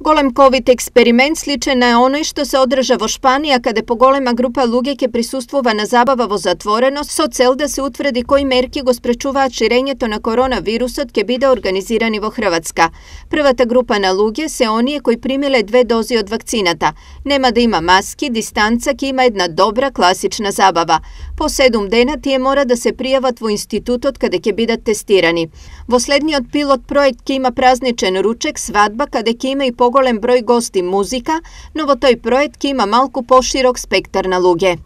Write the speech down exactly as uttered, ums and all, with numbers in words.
Голем ковид експеримент сличен на оној што се одржа во Шпанија, каде поголема група луѓе ќе присуствува на забава во затвореност со цел да се утврди кои мерки го спречуваат ширењето на коронавирусот ќе биде организирани во Хрватска. Првата група на луѓе се оние кои примиле две дози од вакцината. Нема да има маски, дистанца, ќе има една добра класична забава. По седум дена тие мора да се пријават во институтот каде ќе бидат тестирани. Во следниот пилот проект ќе има празничен ручек, свадба, каде ќе има и поголем број гости, музика, но во тој проект ќе има малку поширок спектар на луѓе.